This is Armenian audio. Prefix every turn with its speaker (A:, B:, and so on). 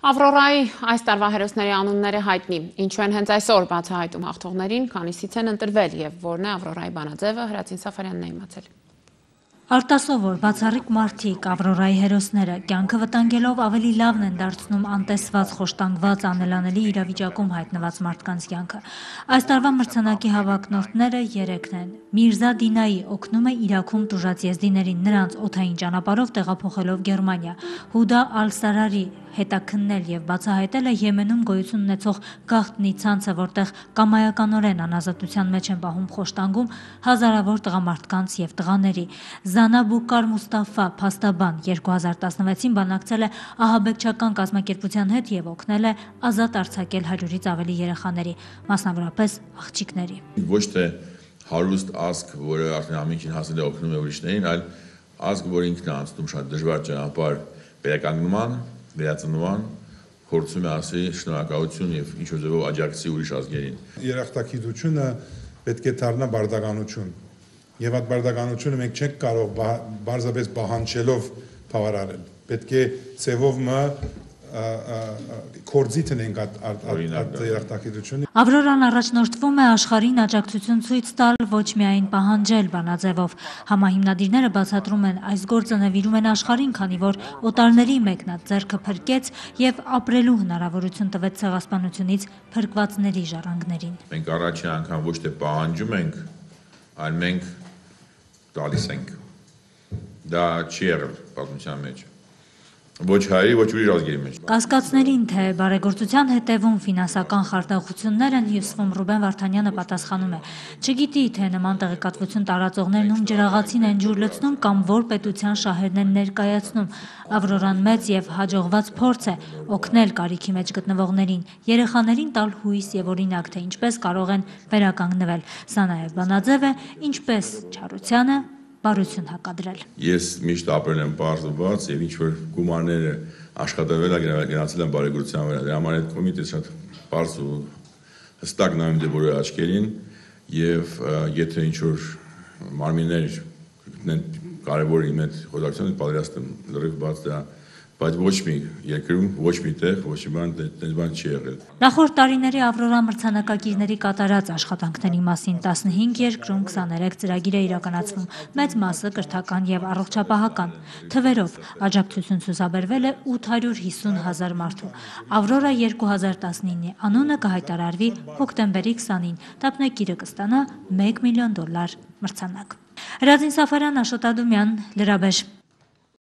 A: Ավրորայի այս տարվա հերոսների անունները հայտնի, ինչու են հենց այսօր բացահայտում հաղթողներին, քանիսից են ընտրվել եւ որն է Ավրորայի բանաձևը, Հրացին Սաֆարյանն է իմացել։
B: Արտասովոր, բացառիկ մարդիկ, Ավրորայի հերոսները, կյանքը վտանգելով ավելի լավն են դարձնում անտեսված, խոշտանգված, անելանելի իրավիճակում հայտնված մարդկանց կյանքը։ Այս տարվա մրցանակի հավակնորդները 3 են։ Միրզա Դինայի օգնում է Իրաքում տուժած եզդիներին նրանց օդային ճանապարհով տեղափոխելով Գերմանիա։ Հուդա Ալ-Սարարի հետաքննել եւ բացահայտել է Եմենում գոյություն ունեցող գաղտնի ցանցը, որտեղ կամայականորեն անազատության մեջ են պահում խոշտանգում հազարավոր տղամարդկանց եւ տղաների։ Զանաբուկար Մուստաֆա Փաստաբան 2016-ին բանակցել է ահաբեկչական կազմակերպության հետ եւ օգնել է ազատ արձակել 100-ից ավելի երեխաների, մասնավորապես աղջիկների։
C: Ոչ թե հարուստ ազգ, որը արդեն ամենքին հասել է օգնում է ուրիշներին, այլ ազգ, որ ինքն է անցնում շատ դժվար ճանապարհ վերականգնման, վերածնման, փորձում է ասի շնորհակալություն եւ ինչ-որ ձևով աջակցի ուրիշ ազգերին։
D: Երախտագիտությունը պետք է դառնա բարդականություն։ Եվ այդ բարդականությունը մենք չենք կարող բարձրապես պահանջելով բավարարել։ Պետք է ծևով կորձի տնենք այդ երախտագիտությունը։
B: Ավրորան առաջնորդվում է աշխարհին աջակցություն ցույց տալ, ոչ միայն պահանջել բանաձևով։ Համահիմնադիրները բացատրում են, այս գործը նվիրում են աշխարհին, քանի որ օտարների մեկնած ձեռքը փրկեց եւ ապրելու հնարավորություն տվեց ցեղասպանությունից փրկվածների ժառանգներին։
C: Մենք առաջին անգամ ոչ թե պահանջում ենք, այլ մենք տալիս ենք։ Դա չի եղել պատմության մեջ։ Ոչ հայերի, ոչ ուրիշ ազգերի մեջ։
B: Կասկածներին, թե բարեգործության հետևում ֆինանսական խարդախություններ են հյուսվում, Ռուբեն Վարդանյանը պատասխանում է. չգիտի, թե նման տեղեկատվություն տարածողներն ում ջրաղացին են ջուր լցնում կամ որ պետության շահերն են ներկայացնում։ Ավրորան մեծ եւ հաջողված փորձ է օգնել կարիքի մեջ գտնվողներին, երեխաներին տալ հույս եւ օրինակ, թե ինչպես կարող են վերականգնվել։ Սա նաեւ բանաձև է, ինչպես չարությանը բարություն հակադրել։
C: Ես միշտ ապրել եմ բարձ ու բաց եւ ինչ որ գումարները աշխատել է գնացել են բարեգործության վրա։ Դրա համար այդ կոմիտեը շատ բարձ ու հստակ նայում է բոլորի աչքերին եւ եթե ինչ որ մարմիններ գտնեն կարևոր իմ այդ խոդակցությունը պատրաստ եմ լրիվ բաց դրա, բայց ոչ մի երկրում, ոչ մի տեղ, ոչ մի բան չի եղել։
B: Նախորդ տարիների Ավրորա մրցանակակիրների կատարած աշխատանքների մասին 15 երկրում 23 ծրագիր է իրականացվում, մեծ մասը կրթական եւ առողջապահական։ Թվերով աջակցություն ցուցաբերվել է 850,000 մարդու։ Ավրորա 2019-ի անունը կհայտարարվի հոկտեմբերի 20-ին, դափնեկիրը կստանա $1 միլիոն մրցանակ։ Հրացին Սաֆարյան, Աշոտ Ադումյան, Լրաբեջ։